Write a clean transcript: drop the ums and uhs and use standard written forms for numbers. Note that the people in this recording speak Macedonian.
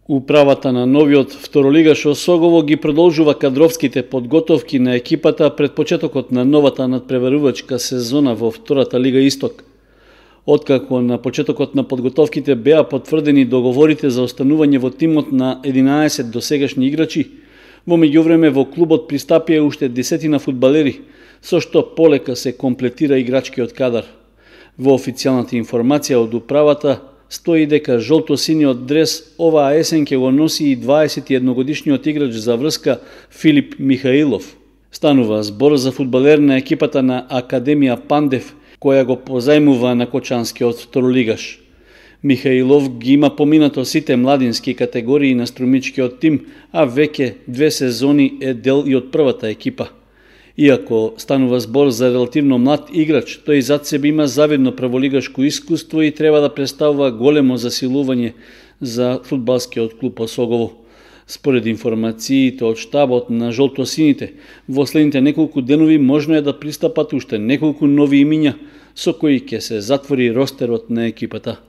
Управата на новиот второлигаш Осогово ги продолжува кадровските подготовки на екипата пред почетокот на новата надпреварувачка сезона во втората Лига Исток. Откако на почетокот на подготовките беа потврдени договорите за останување во тимот на 11 досегашни играчи, во меѓувреме во клубот пристапија уште 10 фудбалери, со што полека се комплетира играчкиот кадар. Во официјалната информација од управата стои дека жолто-синиот дрес оваа есен ќе го носи и 21-годишниот играч за врска Филип Михаилов. Станува збор за фудбалер на екипата на Академија Пандев, која го позајмува на кочанскиот второлигаш. Михаилов ги има поминато сите младински категории на струмичкиот тим, а веќе 2 сезони е дел и од првата екипа. Иако станува збор за релативно млад играч, тој зад себе има завидно прволигашко искуство и треба да представува големо засилување за фудбалскиот клуб Осогово. Според информациите од штабот на жолтосините, во следните неколку денови можно е да пристапат уште неколку нови имиња со кои ќе се затвори ростерот на екипата.